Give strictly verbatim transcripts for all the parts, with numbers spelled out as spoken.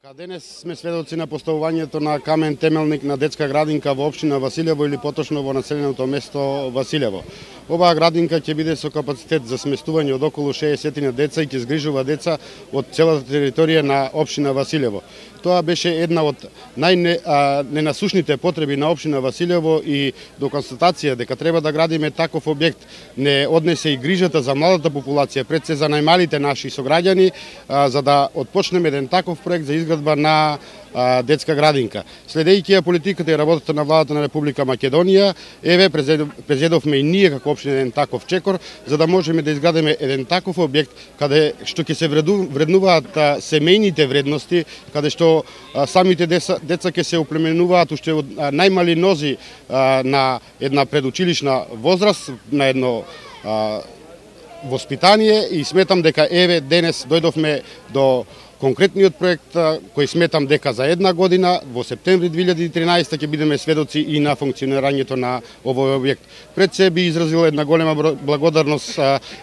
Така, денес сме сведоци на поставувањето на камен темелник на детска градинка во општина Василево или поточно во населеното место Василево. Оваа градинка ќе биде со капацитет за сместување од околу шеесет деца и ќе згрижува деца од целата територија на општина Василево. Тоа беше една од најненасушните потреби на општина Василево и до констатација дека треба да градиме таков објект не однесе и грижата за младата популација, пред се за најмалите наши сограѓани, за да отпочнеме еден таков проект за изградба на детска градинка. Следејќи ја политиката и работата на владата на Република Македонија, еве презедовме и ние како општина еден таков чекор за да можеме да изградиме еден таков објект каде што ќе се вреднуваат семејните вредности, каде што самите деца, деца ќе се оплеменуваат уште од најмали нози на една предучилишна возраст, на едно воспитание, и сметам дека еве денес дојдовме до конкретниот проект кој сметам дека за една година во септември две илјади и тринаесетта ќе бидеме сведоци и на функционирањето на овој објект. Пред се би изразил една голема благодарност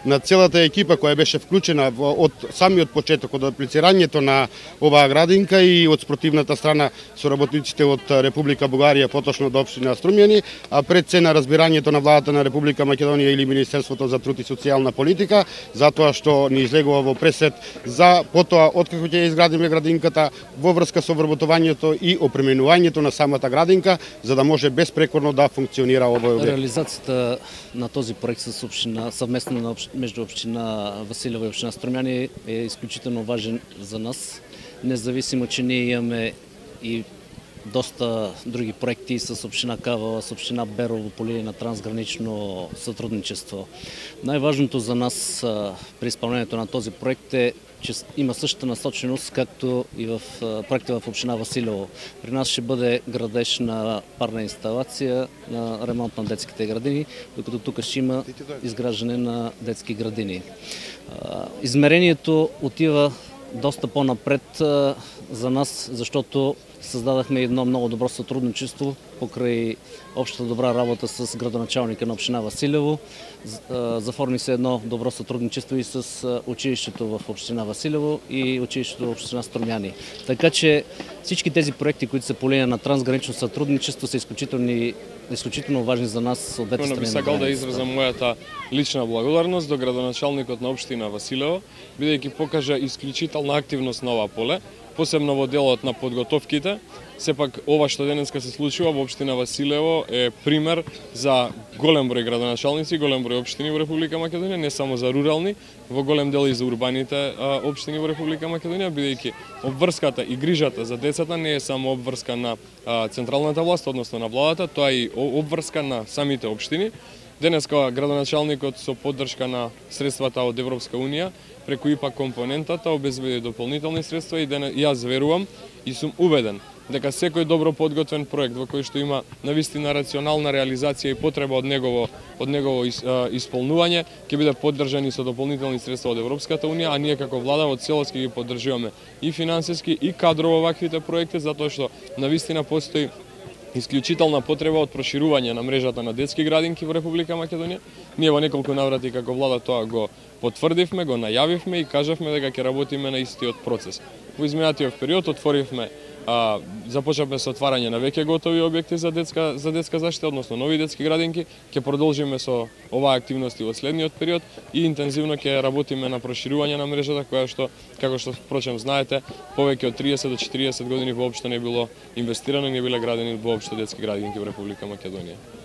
на целата екипа која беше вклучена од самиот почеток, од аплицирањето на оваа градинка и од спротивната страна со работниците од Република Бугарија, поточно од општина Струмјани, а пред се на разбирањето на владата на Република Македонија или Министерството за труд и социјална политика, затоа што ни излегува во пресет за потоа откако ќе изградиме градинката во врска со вработувањето и опременувањето на самата градинка, за да може безпрекорно да функционира овој објект. Реализацијата на този проект со општина совместно на общ... меѓу општина Василево и општина Струмјани е исклучително важен за нас, независимо че ние имаме и доста други проекти с општина Кавала, с општина Берово по линија на трансгранично сотрудничество. Најважното за нас при исполнението на този проект е че има същата насоченост, както и в проекта в општина Василево. При нас ще бъде градеж на парна инсталация, на ремонт на детските градини, докато тук ще има изграждане на детски градини. Измерението отива доста по-напред за нас, защото създадахме едно много добро сътрудничество покрай общата добра работа с градоначалника на општина Василево. Заформи се едно добро сътрудничество и с училището в општина Василево и училището в општина Струмјани. Така че всички тези проекти, които са по линия на трансгранично сътрудничество, са изключително, изключително важни за нас от двете страни. Би сакал да изразам мојата лична благодарност до градоначалникот на општина Василево, бидејќи покажа исклучителна активност на ова поле, посебно во делот на подготовките. Сепак ова што денеска се случува во општина Василево е пример за голем број градоначалници, голем број општини во Република Македонија, не само за рурални, во голем дел и за урбаните општини во Република Македонија, бидејќи обврската и грижата за децата не е само обврска на централната власт, односно на владата, тоа е и обврска на самите општини. Денеска градоначалникот со поддршка на средствата од Европска Унија преку ИПА компонентата обезбеди дополнителни средства и денес јас верувам и сум убеден дека секој добро подготвен проект во кој што има навистина рационална реализација и потреба од негово од негово исполнување ќе биде поддржан и со дополнителни средства од Европската Унија, а ние како влада во целост ќе ги поддржуваме и финансиски и кадрово ваквите проекти, затоа што навистина постои исклучителна потреба од проширување на мрежата на детски градинки во Република Македонија. Ние во неколку наврати како влада тоа го потврдивме, го најавивме и кажавме дека ќе работиме на истиот процес. Во изминатиот период отворивме А, започнавме со отварање на веќе готови објекти за детска за детска заштита, односно нови детски градинки. Ќе продолжиме со оваа активности во следниот период и интензивно ќе работиме на проширување на мрежата која што, како што впрочем знаете, повеќе од триесет до четириесет години воопшто не било инвестирано и не биле градени воопшто детски градинки во Република Македонија.